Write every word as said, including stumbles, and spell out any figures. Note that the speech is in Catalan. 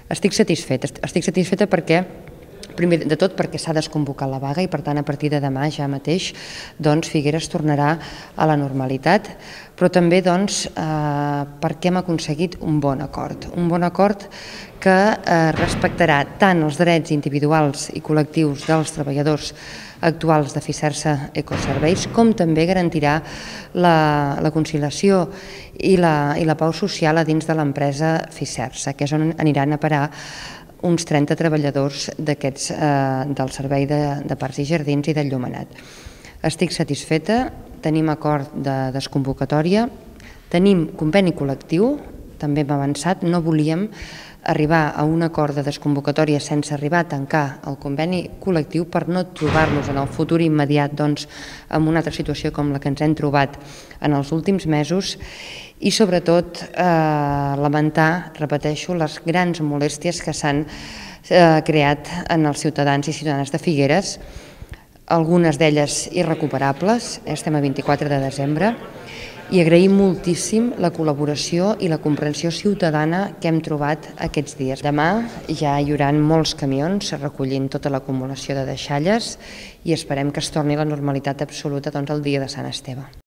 Estic satisfeta, estic satisfeta perquè, primer de tot, perquè s'ha desconvocat la vaga i, per tant, a partir de demà ja mateix, doncs, Figueres tornarà a la normalitat, però també doncs, eh, perquè hem aconseguit un bon acord, un bon acord que eh, respectarà tant els drets individuals i col·lectius dels treballadors actuals de Fisersa Ecoserveis, com també garantirà la, la conciliació i la, i la pau social a dins de l'empresa Fisersa, que és on aniran a parar uns trenta treballadors d'aquests eh, del Servei de, de Parcs i Jardins i d'Enllumenat. Estic satisfeta, tenim acord de desconvocatòria, tenim conveni col·lectiu, també hem avançat, no volíem arribar a un acord de desconvocatòria sense arribar a tancar el conveni col·lectiu per no trobar-nos en el futur immediat doncs, en una altra situació com la que ens hem trobat en els últims mesos i sobretot eh, lamentar, repeteixo, les grans molèsties que s'han eh, creat en els ciutadans i ciutadanes de Figueres, algunes d'elles irrecuperables, estem a vint-i-quatre de desembre, i agraïm moltíssim la col·laboració i la comprensió ciutadana que hem trobat aquests dies. Demà ja hi haurà molts camions recollint tota l'acumulació de deixalles i esperem que es torni a la normalitat absoluta doncs, el dia de Sant Esteve.